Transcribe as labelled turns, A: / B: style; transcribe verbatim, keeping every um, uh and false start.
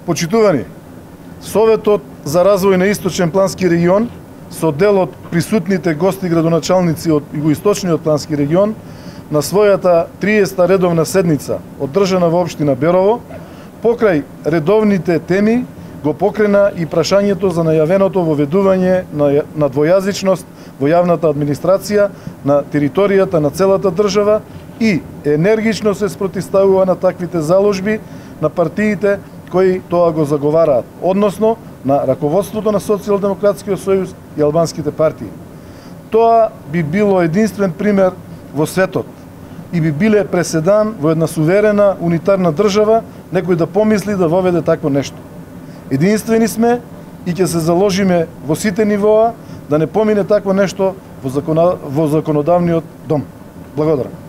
A: Почитувани, Советот за развој на Источен плански регион со дел од присутните гости градоначалници од Југоисточниот плански регион на својата триесета редовна седница одржана во општина Берово, покрај редовните теми го покрена и прашањето за најавеното воведување на, на двојазичност во јавната администрација на територијата на целата држава и енергично се спротивставува на таквите заложби на партиите кои тоа го заговараат, односно на раководството на Социјалдемократскиот сојуз и албанските партии. Тоа би било единствен пример во светот и би биле преседан во една суверена унитарна држава некој да помисли да воведе такво нешто. Единствени сме и ќе се заложиме во сите нивоа да не помине такво нешто во, закона... во законодавниот дом. Благодарам.